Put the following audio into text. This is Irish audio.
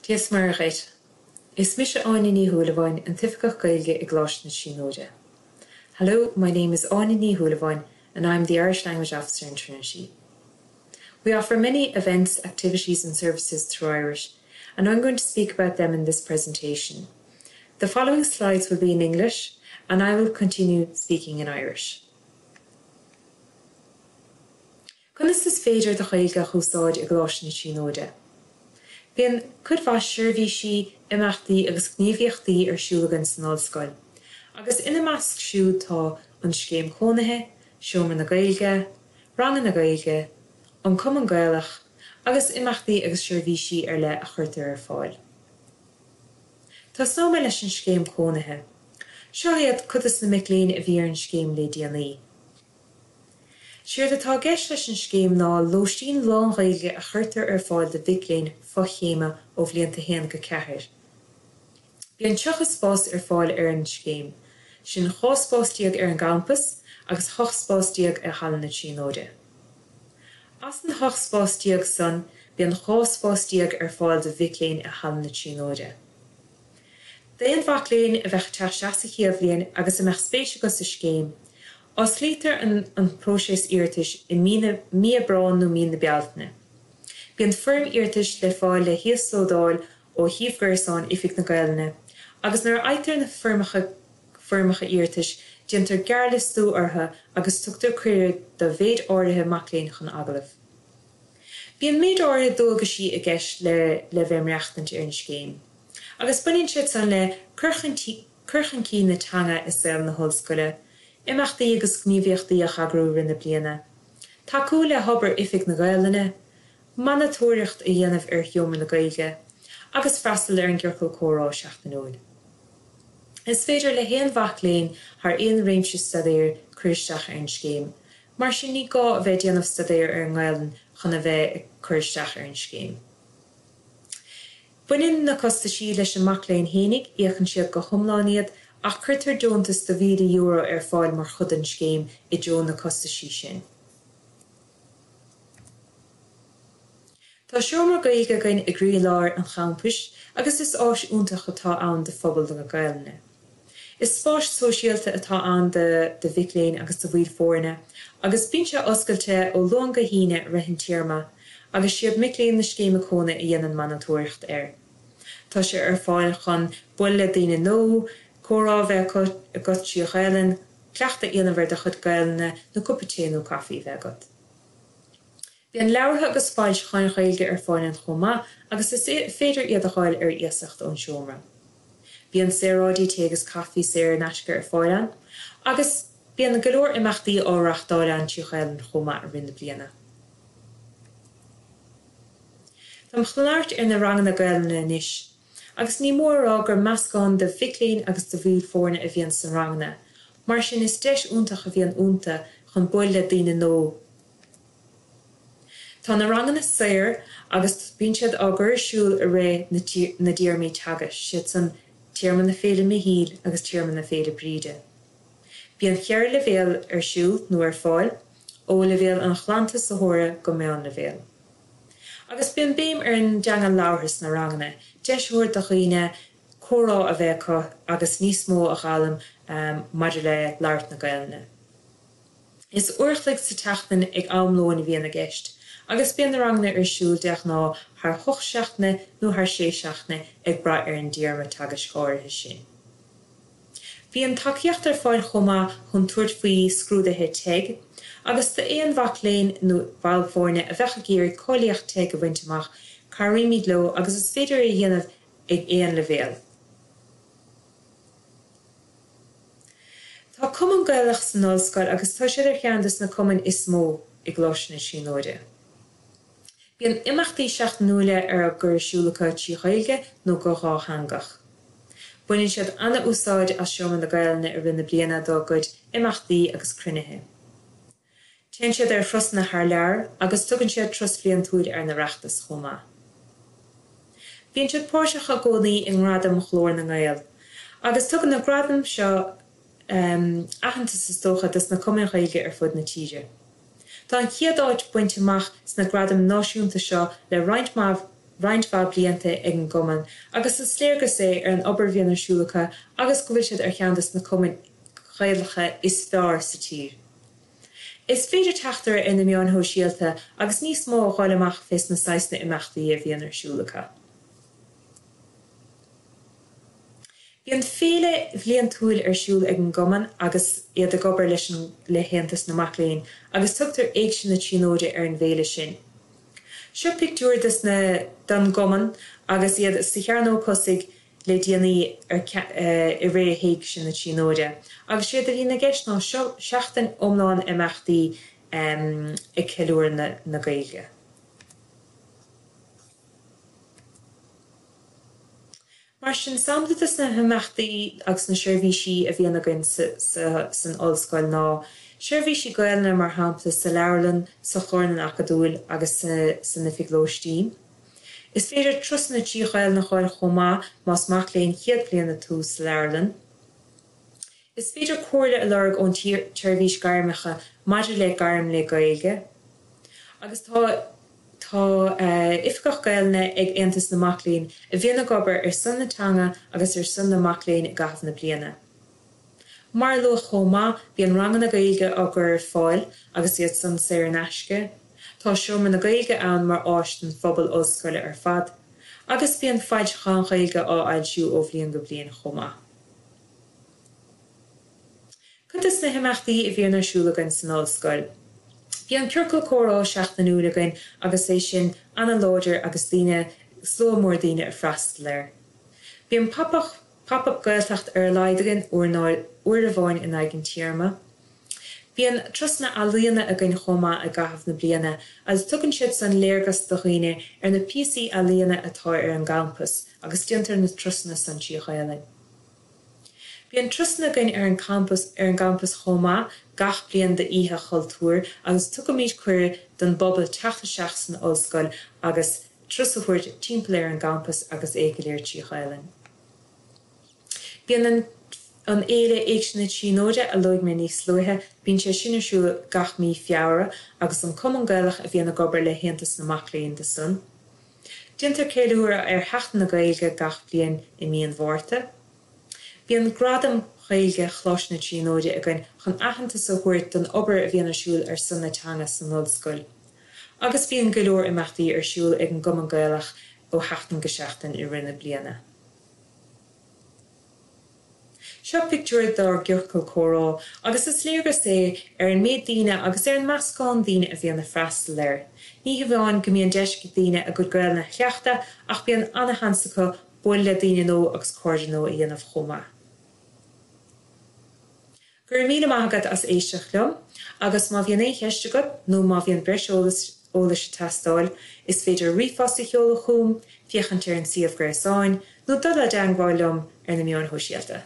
Dia is Muire dhuit. Is mise Áine Ní Shúilleabháin, an tOifigeach Gaeilge i gColáiste na Tríonóide. Hello, my name is Áine Ní Shúilleabháin and I'm the Irish Language Officer in Trinity. We offer many events, activities and services through Irish and I'm going to speak about them in this presentation. The following slides will be in English and I will continue speaking in Irish. Conas is féidir do Ghaeilge a úsáid i gColáiste na Tríonóide? Bíonn cuid mhaith seirbhísí, imeachtaí agus gníomhaíochtaí ar siúl againn san ollscoil, agus ina measc siúd tá an Scéim Chónaithe, Seomra na Gaeilge, Ranganna Gaeilge, an Cumann Gaelach agus imeachtaí agus seirbhísí ar leith a chuirtear ar fáil. Tosnóidh mé leis an Scéim Chónaithe. Seo iad cuid de na mic léinn a bhí ar an scéim le déanaí. Séard atá i gceist leis an scéim ná lóistín lán-Ghaeilge a chuirtear ar fáil do mhic léinn fochéime ó bhlianta 1 go 4. Bíonn 30 spás ar fáil ar an scéim, sin 12 spás ar an gcampas agus 18 spás i Halla na Tríonóide. As an 18 spás san, bíonn 12 spás ar fáil do mhic léinn i Halla na Tríonóide. D'aon mhac léinn a bheadh ag teacht isteach sa chéad bhliain agus a mbeadh spéis acu sa scéim, osclaítear an an próiseas iarratais i mí na mí Aibreáin nó mí na Bealtaine. Bíonn foirm iarratais le fáil le híoslódáil ó shuíomh gréasáin Oifig na Gaelainne agus nuair a fhaightear na foirmeacha foirmeacha iarratais déantar gearrliostú orthu agus tugtar cuireadh do mhéid áirithe mac léinn chun agallaimh. Bíonn méid áirithe dualgaisí i gceist le le bheith ag maireachtaint ar an scéim. Agus baineann siad san le cur chun cur chun cinn na teanga i saol na hollscoile, imeachtaí agus gníomhaíochtaí a eagrú i rith na bliana, tacú le hobair Oifig na Gaelainne, monatóireacht a dhéanamh ar Sheomra na Gaeilge, agus freastal ar an gciorcal comhrá seachtainiúil. Is féidir le haon mhac léinn thar aon réimse staidéir cur isteach ar an scéim, mar sin ní gá a bheith ag déanamh staidéir ar an nGaelainn chun a bheith ag cur isteach ar an scéim. Baineann na costaisí leis an mac léinn fhéinig, íocann siad go hiomlán iad, ach cuirtear deontas de €1,000 ar fáil mar chuid den scéim i dtreo na costaisí sin. Tá seomra Gaeilge againn i gcroílár an champais agus is áis iontach atá ann do phobal na Gaelainne. Is spás sóisialta atá ann do do mhic léinn agus do bhaill foirne agus bíonn sé oscailte ó Luan go hAoine i rith an téarma agus siad mic léinn na Scéime Cónaithe a dhéanann monatóireacht air. Tá sé ar fáil chun bualadh le daoine nua, comhrá a bheith acu agat trí Ghaelainn, cleachtadh a dhéanamh ar do chuid Gaelainne nó cupa tae nó caife a bheith agat. Bíonn leabhartha agus foilseacháin Ghaeilge ar fáil ann chomh maith agus is féidir iad a fháil ar iasacht ón seomra. Bíonn saoráidí tae agus caife saor in aisce ar fáil ann agus bíonn go leor imeachtaí á reáchtáil ann trí Ghaelainn chomh maith i rith na bliana. Táim chun labhairt ar na ranganna Gaelainne anois agus ní mór a rá gur meascán de mhic léinn agus de bhaill foirne a bhíonn sna ranganna, mar sin is deis iontach a bhíonn iontu chun bualadh le daoine nua. Tá na ranganna saor agus bíonn siad á gcur ar siúl i rith na dtéarmaí teagaisc, siad san, téarma na Féile Michíl agus téarma na Féile Bríde. Bíonn cheithre leibhéal ar siúl nó ar fáil, ó leibhéal an ghlantosaitheora go meánleibhéal. Agus bíonn béim ar an dteanga labhartha sna ranganna, deis a thabhairt do dhaoine comhrá a bheith acu agus níos mó a fhoghlaim maidir le labhairt na Gaelainne. Is uair a chloig sa tseachtain ag am lóin a bhíonn i gceist, agus bíonn na ranganna ar siúl de ghnáth thar hocht seachtaine nó thar sé seachtaine ag brath ar an dtéarma teagaisc áirithe sin. Bíonn tacaíocht ar fáil chomh maith chun tabhairt faoi scrúduithe teg, agus d'aon mhac léinn nó ball foirne a bheadh ag iarraidh cáilíocht teg a bhaint amach, cabhraímid leo agus is féidir é a dhéanamh ag aon leibhéal. Tá Cumann Gaelach san ollscoil agus tá siad ar cheann de na cumainn is mó i gColáiste na Tríonóide. Bíonn imeachtaí seachtainiúla ar á gcur ar siúl acu trí Ghaeilge nó go dhátheangach. Baineann siad ana-úsáid as Seomra na Gaelainne i rith na bliana dá gcuid imeachtaí agus cruinnithe. Téann siad ar thurasanna thar lear agus tugann siad turas bhliantúil ar an Oireachtas chomh maith. Bíonn siad páirteach i gcónaí i nGradaim Ghlór na nGael agus tugann na gradaim seo aitheantas is dócha dos na cumainn Ghaeilge ar fud na tíre. Tá an chéad áit bainte amach sna gradaim náisiúnta seo le roinnt mhaith. roinnt mhaith blianta ag an gcumann agus is léargas é ar an obair a bhíonn ar siúl acu agus go bhfuil siad ar cheann des na cumainn Ghaelacha is fearr sa tír. Is féidir teacht orthu ar na meáin shóisialta agus níos mó a fháil amach fés na saghsanna imeachtaí a bhíonn ar siúl acu. Bíonn féile bhliantúil ar siúl ag an gcumann agus iad ag obair leis an le hAontas na Mac Léinn agus tugtar Éigse na Tríonóide ar an bhféile sin. Seo pictiúr des na den gcumann agus iad sa chearnóg thosaigh le déanaí ar i rith Éigse na Tríonóide agus séard a bhíonn i gceist ná seo seachtain iomlán imeachtaí ag ceiliúradh na na Gaeilge. Mar sin, sampla de na himeachtaí agus na seirbhísí a bhíonn againn san ollscoil ná seirbhísí Gaelainne mar shampla sa leabharlann, sa chlárlann acadúil agus san oifig lóistín. Is féidir turasanna trí Ghaelainn a fháil chomh maith más mac léinn chéad bhliana tú sa leabharlann. Is féidir comhairle a lorg ón tSeirbhís Gairmeacha maidir le gairm le Gaeilge. Agus tá tá Oifigeach Gaelainne ag Aontas na Mac Léinn a bhíonn ag obair ar son na teanga agus ar son na mac léinn i gcaitheamh na bliana. Mar a luadh chomh maith, bíonn ranganna Gaeilge á gcur ar fáil agus iad san saor in aisce. Tá Seomra na Gaeilge ann mar áis don phobal ollscoile ar fad. Agus bíonn foilseacháin Ghaeilge á fhoilsiú ó bhliain go bliain chomh maith. Cuid de na himeachtaí a bhíonn ar siúl againn san ollscoil. Bíonn ciorcal comhrá seachtainiúil againn agus é sin ana-láidir agus daoine, slua mór daoine ag freastal air. Bíonn pop up, pop up Gaeltacht ar a laghad againn uair nó uair amháin in aghaidh an téarma. Bíonn turasanna ealaíona againn chomh maith i gcaitheamh na bliana agus tugann siad san léargas do dhaoine ar na píosaí ealaíona atá ar an gcampas agus déantar na turasanna san trí Ghaelainn. Bíonn turasanna againn ar an campas ar an gcampas chomh maith gach bliain d'Oíche Chultúir agus tugaimid cuireadh don bpobal teacht isteach san ollscoil agus turas a thabhairt timpeall ar an gcampas agus é go léir trí Ghaelainn. Bíonn an an fhéile Éigse na Tríonóide a luaigh mé níos luaithe, bíonn sé sin ar siúl gach mí Feabhra agus an Cumann Gaelach a bhíonn ag obair le hAontas na Mac Léinn do san. Déantar ceiliúradh ar Sheachtain na Gaeilge gach bliain i mí an Mhárta. Bíonn Gradaim Ghaeilge Choláiste na Tríonóide againn chun aitheantas a thabhairt don obair a bhíonn ar siúl ar son na teanga san ollscoil. Agus bíonn go leor imeachtaí ar siúl ag an gCumann Gaelach ó sheachtain go seachtain i rith na bliana. Seo pictiúr dár gciorcal comhrá agus is léargas é ar an méid daoine agus ar an meascán daoine a bhíonn ag freastal air. Ní hamháin go mbíonn deis ag daoine a gcuid Gaelainne a chleachtadh ach bíonn ana-sheans acu bualadh le daoine nua agus cairde nua a dhéanamh chomh maith. Go raibh míle maith agat as éisteacht liom agus má bhíonn aon cheist agat nó má bhíonn breis eolais eolais ag teastáil, is féidir ríomhphost a sheoladh chugam, féachaint ar an suíomh gréasáin, nó dul i dteagmháil liom ar na meáin shóisialta.